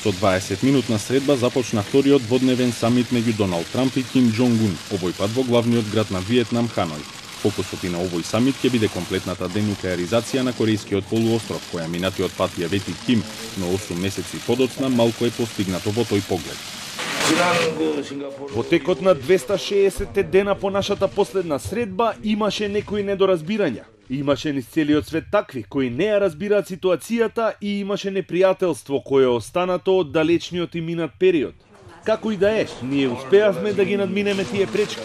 Со 20-минутна средба започна вториот дводневен самит меѓу Доналд Трамп и Ким Џонг Ун, овој пат во главниот град на Виетнам, Ханој. Фокусот и на овој самит ќе биде комплетната денуклеаризација на Корејскиот полуостров, која минатиот пат ја вети Ким, но 8 месеци подоцна малку е постигнато во тој поглед. Во текот на 260 дена по нашата последна средба имаше некои недоразбирања. Имаше низ целиот свет такви кои не ја разбираат ситуацијата и имаше непријателство кое е останато од далечниот и минат период. Како и да е, ние успеавме да ги надминеме тие пречки.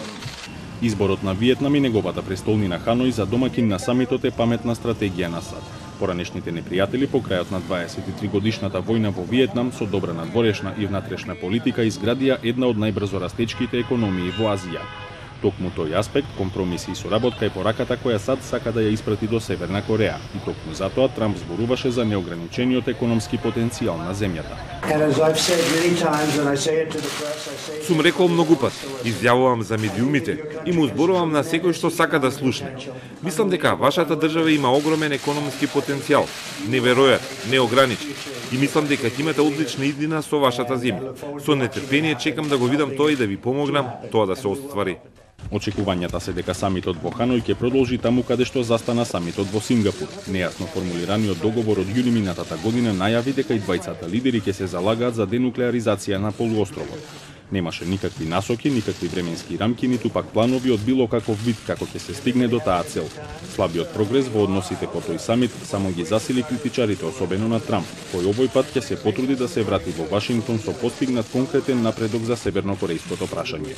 Изборот на Виетнам и неговата престолнина Ханој за домакин на самитот е паметна стратегија на САД. Поранешните непријатели по крајот на 23 годишната војна во Виетнам со добра надворешна и внатрешна политика изградија една од најбрзо растечките економии во Азија. Токму тој аспект, компромиси и соработка е пораката која САД сака да ја испрати до Северна Кореја. И токму затоа Трамп зборуваше за неограничениот економски потенцијал на земјата. Сум рекол многу пат, изјавувам за медиумите и му зборувам на секој што сака да слушне. Мислам дека вашата држава има огромен економски потенцијал, неверојатен, неограничен. И мислам дека ќе имате одлична иднина со вашата земја. Со нетрпение чекам да го видам тоа и да ви помогнам тоа да се оствари. Очекувањата се дека самитот во Ханој ќе продолжи таму каде што застана самитот во Сингапур. Нејасно формулираниот договор од јуни минатата година најави дека и двајцата лидери ќе се залагаат за денуклеаризација на полуостровот. Немаше никакви насоки, никакви временски рамки, ниту пак планови од било каков вид како ќе се стигне до таа цел. Слабиот прогрес во односите по тој самит само ги засили критичарите, особено на Трамп, кој овој пат ќе се потруди да се врати во Вашингтон со постигнат конкретен напредок за севернокорејското прашање.